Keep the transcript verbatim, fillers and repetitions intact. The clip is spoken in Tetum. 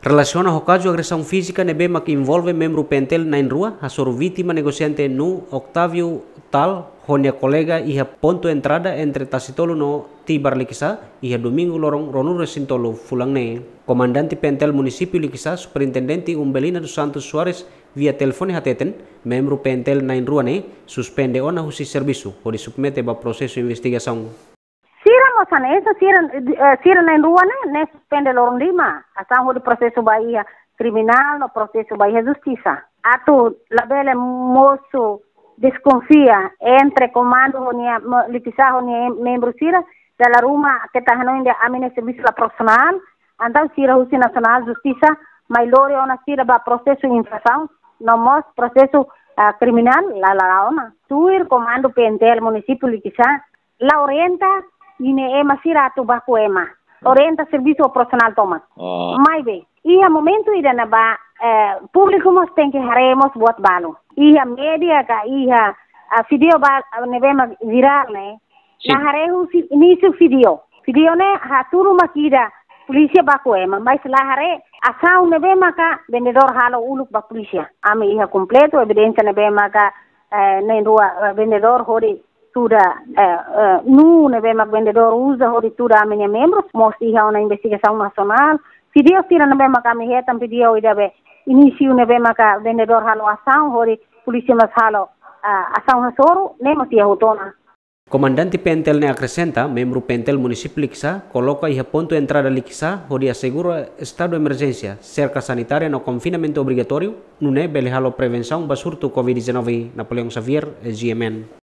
Relasiona ho kazu agresaun fízika ne'ebé mak envolve membru PNTL na'in-rua hasoru vítima negosiante nuu Octavio Tal ho nia kolega iha pontu entrada entre Tasitolu no Tibar Likisá, iha Domingu loron ruanulu-resin-tolu fulan ne'e. Komandante PNTL Munisípiu Likisá, Superintendente Umbelina dos Santos Soares, via telefone hateten, membru PNTL na'in-rua ne'e suspende ona husi servisu, hodi submete ba prosesu investigasaun. Sira mós hanesan, sira, eh, sira na'in-rua ne'e, ne'e suspende loron lima, asaun hodi prosesu ba iha kriminál no prosesu ba iha justisa. Atu labele mosu deskonfia entre komandu ho nia, mo-, Likisá ho nia membru sira, dala ruma keta hanoin dehan ami-nia servisu la profisionál, entaun sira husi Nasionál Justisa mai lori ona sira ba prosesu infrasaun, no mós prosesu, ah, kriminál, la, la, la ona. Tuir komandu PNTL Munisípiu Likisá, la orienta ninia ema sira atu baku ema. Orienta servisu profisionál tomak. Oh. Maibé, iha momentu ida-ne'ebá, eh, públiku mós tenke haree mós buat balu. Iha média ka iha, ah, vídeo ba, ah, ne'ebé mak virál ne'e. Sin. La haree husi inísiu vídeo. Vídeo ne'e hatudu mak ida polísia baku ema, mas la haree asaun ne'ebé maka vendedór halo uluk ba polísia. Ami iha kompletu evidénsia ne'ebé maka, eh, na'in-rua, eh, vendedór hodi tuda, eh, eh, nuu ne'ebé mak vendedór uza hodi tuda ami-nia membrus, mós iha ona investigasaun nasionál. Vídeo sira ne'ebé mak ami hetan vídeo ida be inísiu ne'ebé maka vendedór halo asaun hodi polísia mós halo, ah, asaun hasoru, ne'e mós iha hotu ona. Komandante PNTL ne'e akresenta, membru PNTL Munisípiu Likisá koloka iha pontu entrada Likisá hodi asegura estadu emerjénsia, serka sanitária no konfinamentu obrigatóriu, nune'e bele halo prevensaun ba surtu COVID dezanove. Napoleão Xavier, GMN.